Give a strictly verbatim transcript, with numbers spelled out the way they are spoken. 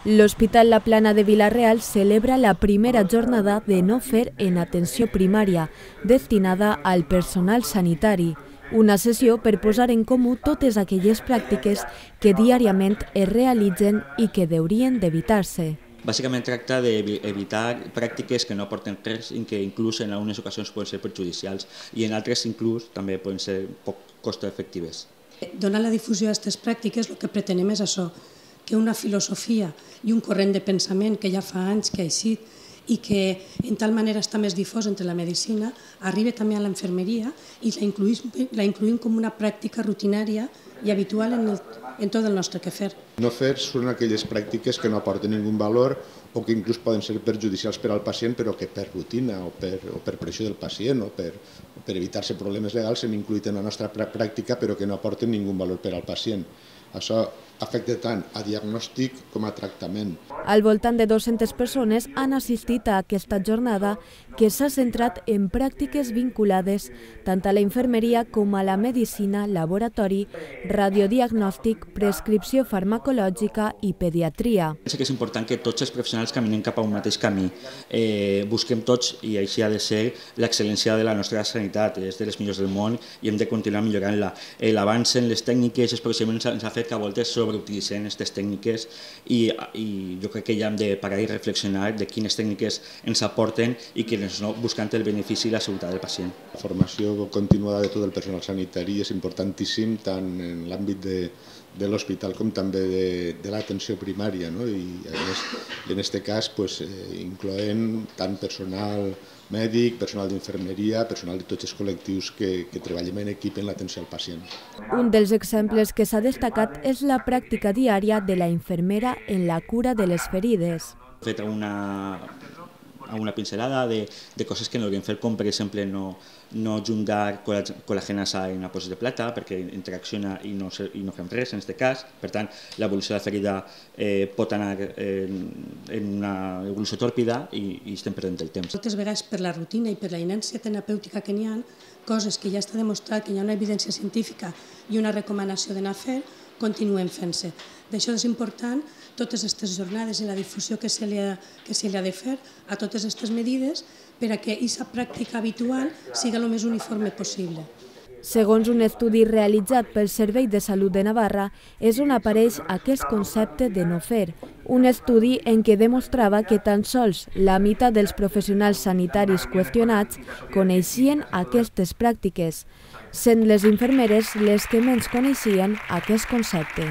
L'Hospital La Plana de Vila-real celebra la primera jornada de no fer en atenció primària, destinada al personal sanitari. Una sessió per posar en comú totes aquelles pràctiques que diàriament es realitzen i que haurien d'evitar-se. Bàsicament tracta d'evitar pràctiques que no aporten res i que inclús en algunes ocasions poden ser perjudicials i en altres inclús també poden ser poc costoefectives. Donar la difusió a aquestes pràctiques el que pretenem és això, que una filosofia i un corrent de pensament que ja fa anys que ha eixit i que en tal manera està més difós entre la medicina, arriba també a l'enfermeria i la incluïm, la incluïm com una pràctica rutinària i habitual en, el, en tot el nostre quefer. No fer són aquelles pràctiques que no aporten ningú valor o que inclús poden ser perjudicials per al pacient, però que per rutina o per, o per pressió del pacient o per, o per evitar-se problemes legals s'han incluït en la nostra pràctica però que no aporten ningú valor per al pacient. Això afecta tant a diagnòstic com a tractament. Al voltant de dues-centes persones han assistit a aquesta jornada que s'ha centrat en pràctiques vinculades tant a la infermeria com a la medicina, laboratori, radiodiagnòstic, prescripció farmacològica i pediatria. Penso que és important que tots els professionals caminem cap a un mateix camí. Eh, busquem tots, i així ha de ser, l'excel·lència de la nostra sanitat, és de les millors del món i hem de continuar millorant-la. Eh, L'avanç en les tècniques, els procediments ens ha fet que a voltes sobreutilitzem aquestes tècniques i, i jo crec que ja hem de parar i reflexionar de quines tècniques ens aporten i que ens no buscant el benefici i la seguretat del pacient. La formació continuada de tot el personal sanitari és importantíssim tant en l'àmbit de, de l'hospital com també de, de l'atenció primària, no? I en aquest cas pues, eh, incloent tant personal mèdic, personal d'infermeria, personal de tots els col·lectius que, que treballem en equip en l'atenció al pacient. Un dels exemples que s'ha destacat és la pràctica diària de la infermera en la cura de les ferides. He fet una, una pincelada de, de coses que no hauríem fet, com per exemple no, no juntar col·lagenasa en una posa de plata perquè interacciona i no, i no fem res en aquest cas. Per tant, l'evolució de la ferida eh, pot anar en, en una evolució tòrpida i, i estem perdent el temps. Moltes vegades per la rutina i per la inèrcia terapèutica que n'hi ha, coses que ja està demostrat que hi ha una evidència científica i una recomanació d'anar a fer, continuen fent-se. D'això és important totes aquestes jornades i la difusió que se li ha, que se li ha de fer a totes aquestes medides per a que aquesta pràctica habitual sigui el més uniforme possible. Segons un estudi realitzat pel Servei de Salut de Navarra, és on apareix aquest concepte de no fer. Un estudi en què demostrava que tan sols la meitat dels professionals sanitaris qüestionats coneixien aquestes pràctiques, sent les infermeres les que menys coneixien aquest concepte.